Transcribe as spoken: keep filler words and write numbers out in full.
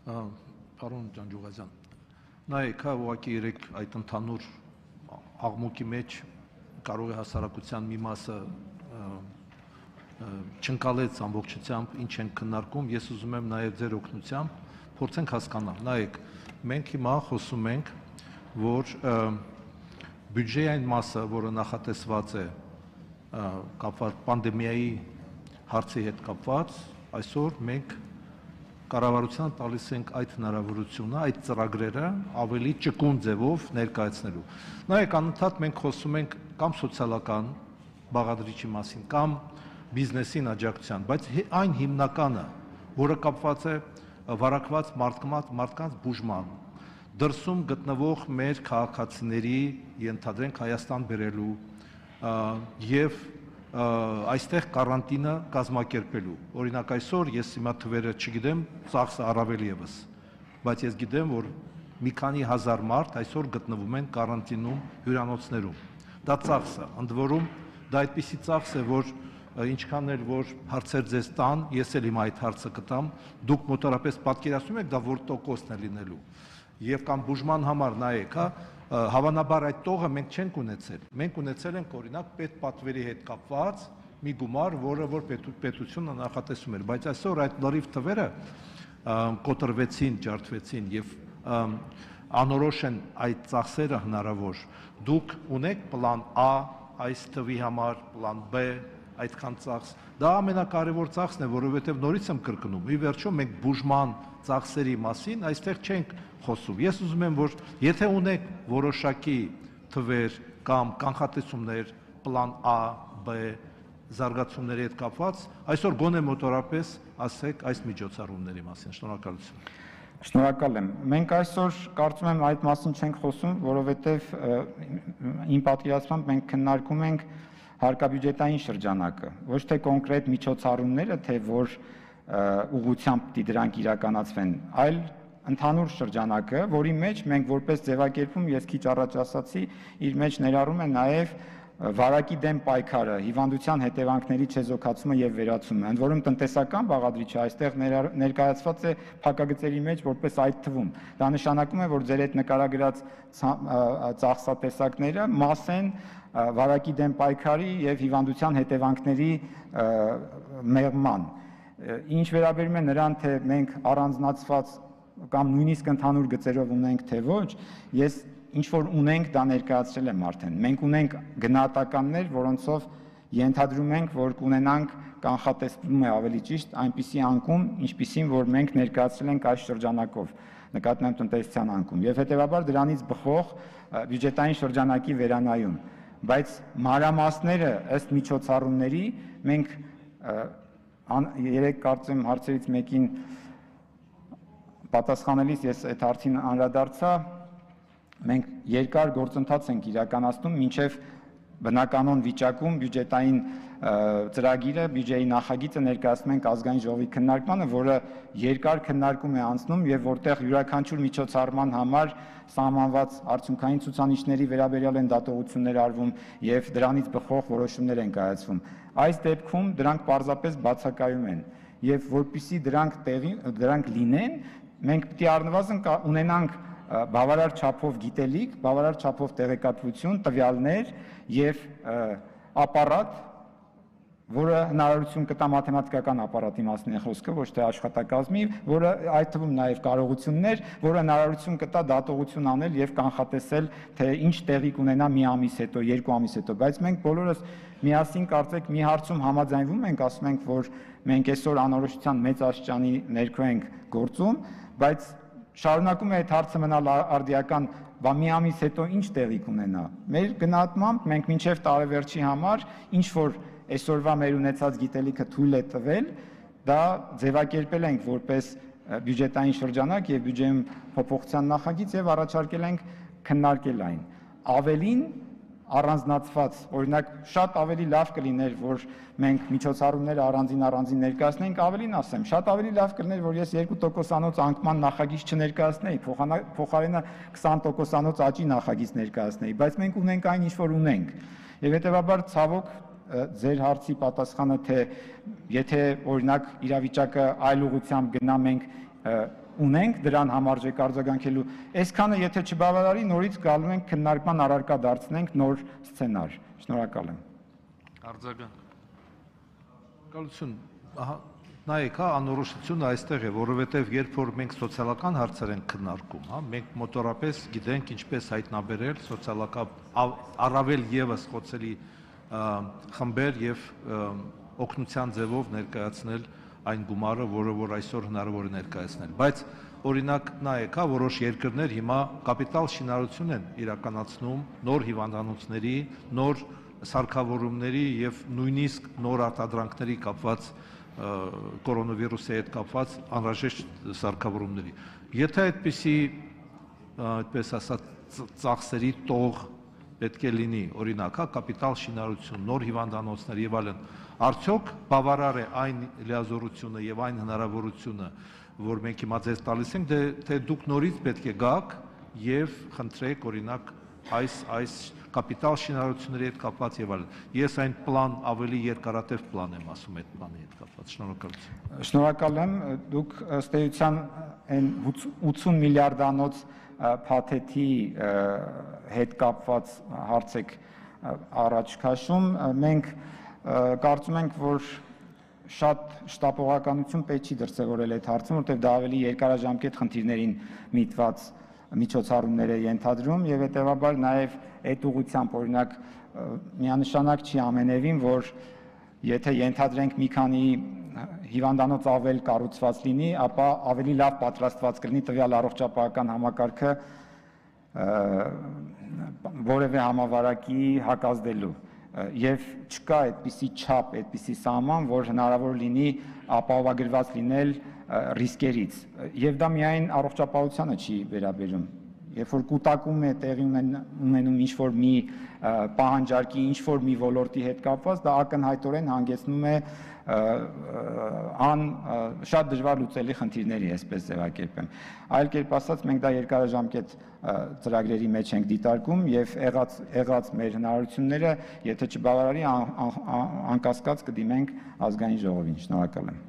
Պարոն Ջանջուղազյան, նայեք, հա, ուղղակի երեք այդ ընդհանուր աղմուկի մեջ կարող է հասարակության մի մասը չընկալեց ամբողջությամբ ինչ են քննարկում, ես ուզում եմ նաև ձեր օգնությամբ փորձենք հասկանալ։ Նայեք, մենք հիմա խոսում ենք, որ բյուջեի այն մասը, որը նախատեսված է կապված պանդեմիայի հարցի հետ կապված, այսօր մենք կառավարությանը տալիս ենք այդ հնարավորությունը, այդ ծրագրերը ավելի ճկուն ձևով ներկայացնելու։ Նայեք, անընդհատ մենք խոսում ենք կամ սոցիալական բաղադրիչի մասին, կամ բիզնեսին աջակցության, բայց այն հիմնականը, որը կապված է վարակված մարդկանց բուժման, դրսում գտնվող մեր քաղաքացիների ենթադրենք Հայաստան բերելու եւ այստեղ կարանտինը կազմակերպելու։ Օրինակ այսօր ես հիմա թվերը չգիտեմ, ծախսը առավել եւս, բայց ես գիտեմ, որ մի քանի հազար մարդ այսօր գտնվում են կարանտինում հյուրանոցներում։ Դա ծախսը, ընդ որում դա այդպիսի ծախս է, որ ինչքան էլ որ հարցեր ձեզ տան, ես էլ հիմա այդ հարցը կտամ, դուք մոտավորապես պատկերացնում եք դա որ տոկոսն է լինելու։ Եվ կամ բուժման համար նայեք, հա, հավանաբար այդ տողը մենք չենք ունեցել։ Մենք ունեցել ենք օրինակ պետպատվերի հետ կապված մի գումար, որը որ պետությունը նախատեսում էր, բայց այսօր այդ լրիվ թվերը կոտրվեցին, ջարդվեցին եւ անորոշ են այդ ծախսերը հնարավոր։ Դուք ունեք պլան A այս թվի համար, պլան B այդքան ծախս, դա ամենակարևոր ծախսն է, որովհետև նորից եմ կրկնում, ի վերջո մենք բուժման ծախսերի մասին այստեղ չենք խոսում։ Ես ուզում եմ, որ եթե ունեք որոշակի թվեր կամ կանխատեսումներ, պլան A, B, զարգացումների հետ կապված, այսօր գոնե մոտորապես ասեք այս միջոցառումների մասին։ Շնորհակալություն։ Շնորհակալ եմ։ Մենք այսօր կարծում եմ այդ մասին չենք խոսում, որովհետև իմ պատկերացմամբ մենք քննարկում ենք հարկաբյուջետային շրջանակը, ոչ թե կոնկրետ միջոցառումները, թե որ ուղղությամբ պիտի դրանք իրականացվեն, այլ ընդհանուր շրջանակը, որի մեջ մենք որպես ձևակերպում, ես քիչ առաջ ասացի, իր մեջ ներառում է նաև վարակի դեմ պայքարը, հիվանդության հետևանքների չեզոքացումը եւ վերացումը, ընդ որում տնտեսական բաղադրիչը այստեղ ներկայացված է փակագծերի մեջ որպես այդ թվում։ Դա նշանակում է, որ ձեր այդ նկարագրած ծախսատեսակները մաս են վարակի դեմ պայքարի եւ հիվանդության հետևանքների մեղման։ Ինչ վերաբերում է նրան, թե մենք առանձնացված կամ նույնիսկ ընդհանուր գծերով ունենք, թե ոչ, ես ինչ որ ունենք, դա ներկայացրել եմ արդեն։ Մենք ունենք գնահատականներ, որոնցով ենթադրում ենք, որ կունենանք կանխատեսվում է ավելի ճիշտ այնպիսի անկում, ինչպիսին որ մենք ներկայացրել ենք այս շրջանակով, նկատի ունեմ տնտեսության անկում, եւ հետեւաբար դրանից բխող բյուջետային շրջանակի վերանայում։ Բայց մանրամասները ըստ միջոցառումների մենք երեք կարծեմ հարցերից մեկին պատասխանելիս ես այդ հարցին անդրադարձա, մենք երկար գործընթաց ենք իրականացնում մինչև բնականոն վիճակում բյուջետային ծրագիրը, բյուջեի նախագիծը ներկայացնում ենք ազգային ժողովի քննարկմանը, որը երկար քննարկում է անցնում եւ որտեղ յուրաքանչյուր միջոցառման համար սահմանված արդյունքային ցուցանիշների վերաբերյալ են դատողություններ արվում եւ դրանից բխող որոշումներ են կայացվում։ Այս դեպքում դրանք պարզապես բացակայում են եւ որpիսի դրանք տեղի դրանք լինեն, մենք պետք է առնվազն ունենանք բավարար չափով գիտելիք, բավարար չափով տեղեկատվություն, տվյալներ եւ ապարատ, որը հնարավորություն կտա մաթեմատիկական ապարատի մասին է խոսքը, ոչ թե աշխատակազմի, որը այդ թվում նաև կարողություններ, որը հնարավորություն կտա դատողություն անել եւ կանխատեսել, թե ինչ տեղի կունենա մի ամիս հետո, երկու ամիս հետո, բայց մենք բոլորս միասին կարծեք մի հարցում համաձայնվում ենք, ասում ենք, որ մենք այսօր անորոշության մեծ աստիճանի ներքո ենք գործում, բայց շարունակում է այդ հարցը մնալ արդիական, բա մի ամիս հետո ինչ տեղի կունենա։ Մեր գնահատմամբ մենք մինչև տարեվերջի համար ինչ որ այսօրվա մեր ունեցած գիտելիքը թույլ է տվել, դա ձևակերպել ենք որպես բյուջետային շրջանակ եւ բյուջեում փոփոխության նախագիծ եւ առաջարկել ենք քննարկել այն։ Ավելին առանձնացված, օրինակ շատ ավելի լավ կլիներ, որ մենք միջոցառումները առանձին առանձին ներկայացնենք, ավելին ասեմ, շատ ավելի լավ կլիներ, որ ես երկու տոկոսանոց անկման նախագիծ չներկայացնեի, փոխարենը քսան տոկոսանոց աճի նախագիծ ներկայացնեի, բայց մենք ունենք այն, ինչ որ ունենք։ Եվ հետեւաբար ցավոք ձեր հարցի պատասխանը, թե եթե օրինակ իրավիճակը այլ ուղղությամբ գնա, մենք ունենք դրան համարժեք արձագանքելու, այսքանը եթե չբավարարի, նորից գալու ենք քննարկման առարկա դարձնենք նոր սցենար։ Շնորհակալ եմ։ Արձագանք։ Շնորհակալություն։ Ահա նայեք, հա, անորոշությունը այստեղ է, որովհետև երբ որ մենք սոցիալական հարցեր ենք քննարկում, հա, մենք մոտորապես գիտենք ինչպես հայտնաբերել սոցիալական առավել եւս խոցելի խմբեր եւ օգնության ձևով ներկայացնել այն գումարը, որը որ այսօր հնարավոր է ներկայացնել, բայց օրինակ նայեք, հա, որոշ երկրներ հիմա կապիտալ շինարարություն են իրականացնում նոր հիվանդանոցների, նոր սարքավորումների եւ նույնիսկ նոր արտադրանքների կապված կորոնավիրուսի հետ կապված անհրաժեշտ սարքավորումների։ Եթե այդպիսի, այդպես ասած, ծախսերի տող պետք է լինի, օրինակ, հա, կապիտալ շինարարություն, նոր հիվանդանոցներ եւ այլն, արդյոք բավարար է այն լիազորությունը եւ այն հնարավորությունը, որ մենք հիմա ձեզ տալիս ենք, թե դուք նորից պետք է գաք եւ խնդրեք, օրինակ, այս այս կապիտալ շինարարությունների հետ կապված եւ այլն։ Ես այն պլան ավելի երկարատև պլան եմ ասում այդ պլանի հետ կապված։ Շնորհակալություն։ Շնորհակալ եմ, դուք ըստ էության այն ութսուն միլիարդանոց փաթեթի հետ կապված հարց եք առաջ քաշում, մենք կարծում ենք, որ շատ շտապողականություն պետք չի դրսևորել այդ հարցում, որտեղ դա ավելի երկարաժամկետ խնդիրներին միտված միջոցառումներ է ենթադրում եւ հետեւաբար նաեւ այդ ուղղությամբ օրինակ միանշանակ չի ամենևին, որ եթե ենթադրենք մի քանի հիվանդանոց ավել կառուցված լինի, ապա ավելի լավ պատրաստված կլինի տվյալ առողջապահական համակարգը որևէ համավարակի հակազդելու եւ չկա այդպիսի չափ, այդպիսի սահման, որ հնարավոր լինի ապահովագրված լինել ռիսկերից եւ դա միայն առողջապահությանը չի վերաբերում, երբ որ կուտակում է տեղի ունենում ինչ-որ մի պահանջարկի, ինչ-որ մի ոլորտի հետ կապված, դա ակնհայտորեն հանգեցնում է ան շատ դժվար լուծելի խնդիրների, այսպես ձևակերպեմ։ Այլ կերպ ասած, մենք դա երկարաժամկետ ծրագրերի մեջ ենք դիտարկում եւ եղած եղած մեր հնարավորությունները, եթե չբավարարի, անկասկած կդիմենք ազգային ժողովին։ Շնորհակալ եմ։